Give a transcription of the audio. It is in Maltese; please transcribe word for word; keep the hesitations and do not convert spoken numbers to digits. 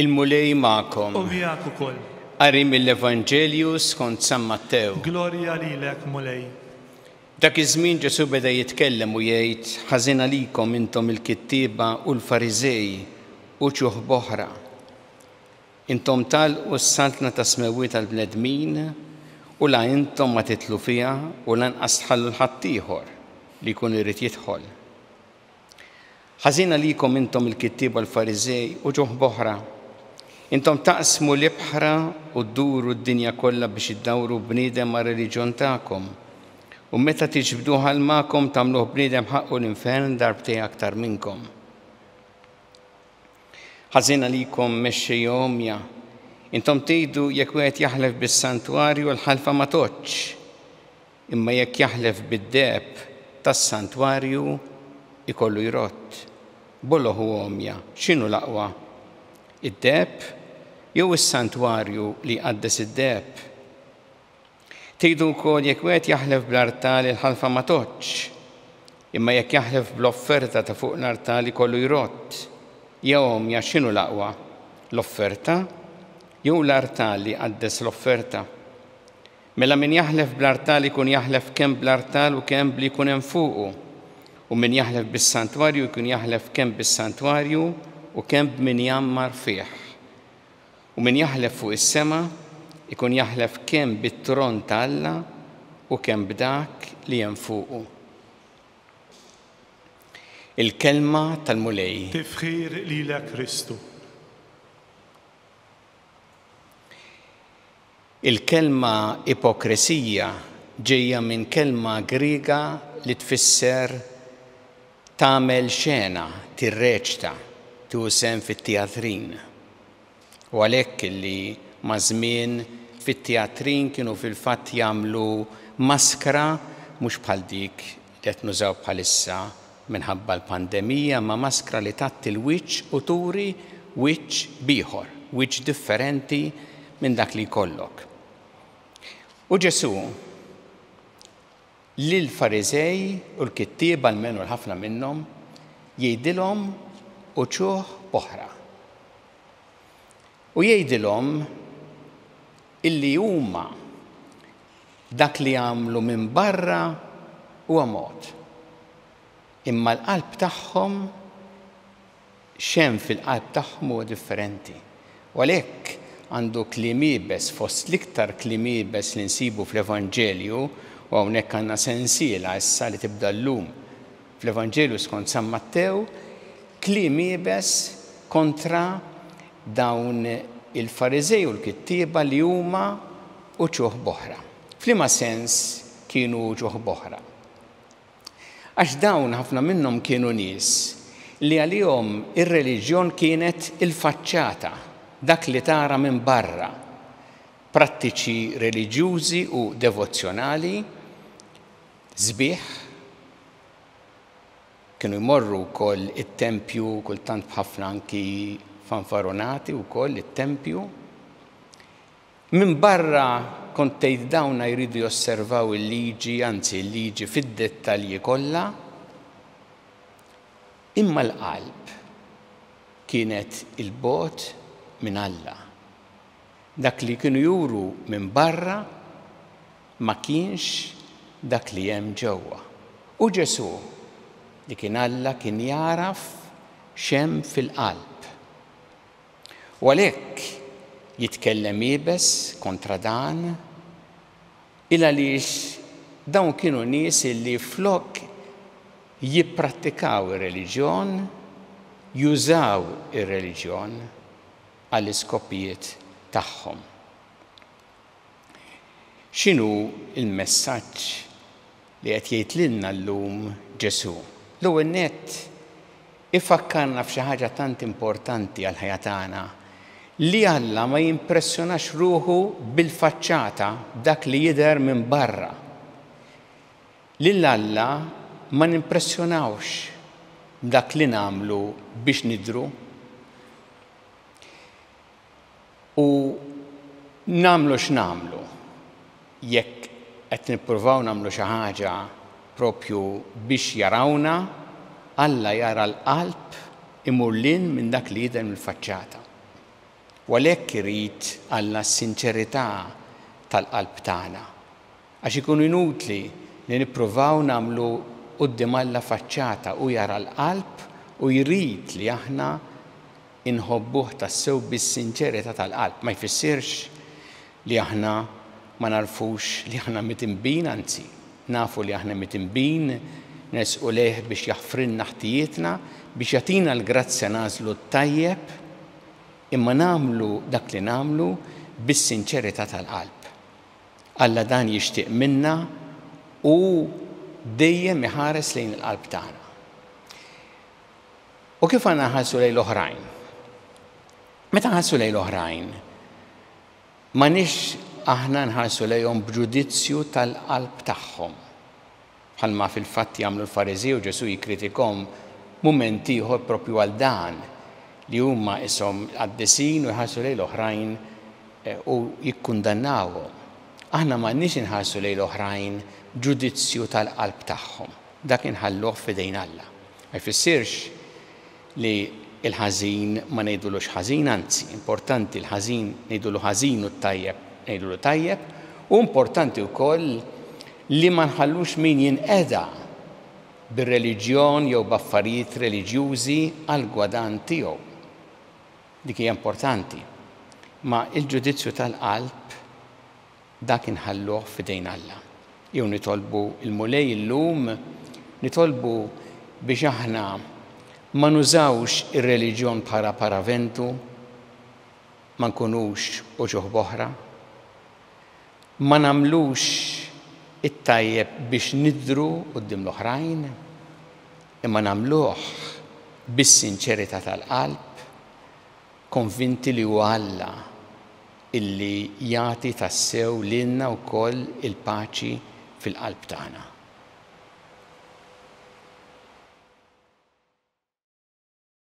Il-Mulej magħkom. U miegħek ukoll. Qari mill-Evanġelju skont San Mattew. Glorja lilek, Mulej. Dak iż-żmien Ġesù beda jitkellem u jgħid: Ħażin għalikom intom il-kittieba u l-Fariżej uċuħ b'oħra. Intom tagħlqu s-saltna tas-smewwiet tal-bnedmin u la intom ma tidħlu fiha u lanqas tħallu 'l ħaddieħor li jkun irid jidħol. Ħażin għalikom intom il-kittieba u l-Fariżej uċuħ b'oħra. Intom taqsmu l-ibħra u dduru d-dinja kollha biex iddawru bniedem mar-reliġjon tagħkom. U meta tiġbduh għal magħkom tagħmluh bniedem ħaqqu l-infern darbtejn aktar minnkom. Ħażin għalikom mexxejja għomja. Intom tgħidu jekk wieħed jaħlef bis-santwarju l-ħalfa ma tgħoddx. Imma jekk jaħlef bid-deheb tas-santwarju ikollu jrodd. Boloh u għomja, x'inhu l-aqwa? Id-deheb jew is-santwarju li jqaddes id-deheb? Tgħidu wkoll jekk wieħed jaħlef bl-artal il-ħalfa ma tgħoddx. Imma jekk jaħlef bl-offerta ta' fuq l-artal ikollu jrodd. Ja għomja, x'inhu l-aqwa? L-offerta jew l-artal li jqaddes l-offerta? Mela min jaħlef bl-artal ikun jaħlef kemm bl-artal u kemm bli jkun hemm fuqu. U min jaħlef bis-santwarju jkun jaħlef kemm bis-santwarju u kemm b'min jgħammar fih. U min jaħlef fuq is-sema ikun jaħlef kemm bit-tron ta' Alla u kemm b'dak li hemm fuqu. Il-kelma tal-Mulej. Tifħir lilek Kristu. Il-kelma ipokresija ġejja minn kelma Griega li tfisser tagħmel xena, tirreċta, tieħu sehem fit-teatrin. U għalhekk li ma' żmien fit-teatrin kienu fil-fatt jagħmlu maskra mhux bħal dik li qed nużaw bħalissa minħabba l-pandemija, ma' maskra li tgħatti l-wiċċ u turi wiċċ b'ieħor, wiċċ differenti minn dak li jkollok. U Ġesù lill-Fariżej u l-kittieba, almenu l-ħafna minnhom, jgħidilhom uċuħ oħra. U jgħidilhom illi huma dak li jagħmlu minn barra huwa mod. Imma l-qalb tagħhom, x'hemm fil-qalb tagħhom huwa differenti. U għalhekk għandu kliem iebes fost l-iktar kliem iebes li nsibu fl-Evanġelju, u hawnhekk għandna sensiela issa li tibda llum fl-Evanġelju skont San Mattew, kliem iebes kontra dawn il-Fariżej u l-kittieba li huma uċuħ b'oħra. F'liema sens kienu uċuħ b'oħra? Għax dawn ħafna minnhom kienu nies li għalihom ir-reliġjon kienet il-faċċata, dak li tara minn barra, prattiċi reliġjużi u devozzjonali, sbieħ, kienu jmorru wkoll it-tempju, kultant b'ħafna anki fanfaronati wkoll it-tempju. Minn barra kont tgħid dawna jridu josservaw il-liġi, anzi il-liġi fid-dettalji kollha, imma l-qalb kienet il-bogħod minn Alla. Dak li kienu juru minn barra ma kienx dak li hemm ġewwa. U Ġesù, li kien Alla, kien jaraf x'hemm fil-qalb. U għalhekk jitkellem iebes kontra dan, il għaliex dawn kienu nies li flok jipprattikaw ir-reliġjon, jużaw ir-reliġjon għall-iskopijiet tagħhom. X'inhu l-messaġġ li qed jgħid lilna llum Ġesù? L-ewwel nett ifakkarna f'xi ħaġa tant importanti għall-ħajja tagħna, li Alla ma jimpressjonax ruħu bil-faċċata, dak li jidher minn barra. Lil Alla ma nimpressjonawx dak li nagħmlu biex nidhru. U nagħmlu x'nagħmlu, jekk qed nippruvaw nagħmlu xi ħaġa propju biex jarawna, Alla jara l-qalb imur lin minn dak li jidher mill-faċċata. U għalhekk irid Alla s-sinċerità tal-qalb tagħna. Għax ikun inutli li nippruvaw nagħmlu quddiem Alla faċċata, u jara l-qalb u jrid li aħna inħobbuh tassew bis-sinċerità tal-qalb. Ma jfissirx li aħna ma narfux li aħna midinbin, anzi, nafu li aħna midinbin, nersqu lejh biex jaħfrilna ħtijietna, biex jagħtina l-grazzja nagħżlu t-tajjeb, imma nagħmlu dak li nagħmlu bis-sinċerità tal-qalb. Alla dan jixtieq minna u dejjem iħares lejn il-qalb tagħna. U kif għandna nħarsu lejn l-oħrajn? Meta nħarsu lejn l-oħrajn, m'għandniex aħna nħarsu lejhom b'ġudizzju tal-qalb tagħhom. Bħalma fil-fatt jagħmlu l-Fariżew, Ġesù jikkritikahom mument ieħor propju għal dan, li huma ishom qaddisin u jħarsu lejn l-oħrajn u jikkundannawhom. Aħna m'għandniex inħarsu lejn l-oħrajn ġudizzju tal-qalb tagħhom. Dak inħalluh f'idejn Alla. Ma jfissirx li il-ħażin ma ngħidulux ħażin, anzi, importanti l-ħażin ngħidulu ħażin u t-tajjeb ngħidulu tajjeb, u importanti wkoll li ma nħallux min jinqeda bir-reliġjon jew b'affarijiet reliġjużi għal gwadan tiegħu. Dik hija importanti. Ma il-ġudizzju tal-qalb dak inħalluh f'idejn Alla. Jew nitolbu il-Mulej illum, nitolbu biex aħna ma nużawx ir-reliġjon bħala paraventu, ma nkunux uċuħ boħra, ma nagħmlux it-tajjeb biex nidru quddiem l-oħrajn, imma nagħmluh bis-sinċerità tal-qalb, konvinti li huwa Alla illi jagħti tassew lilna wkoll il-paċi fil-qalb tagħna.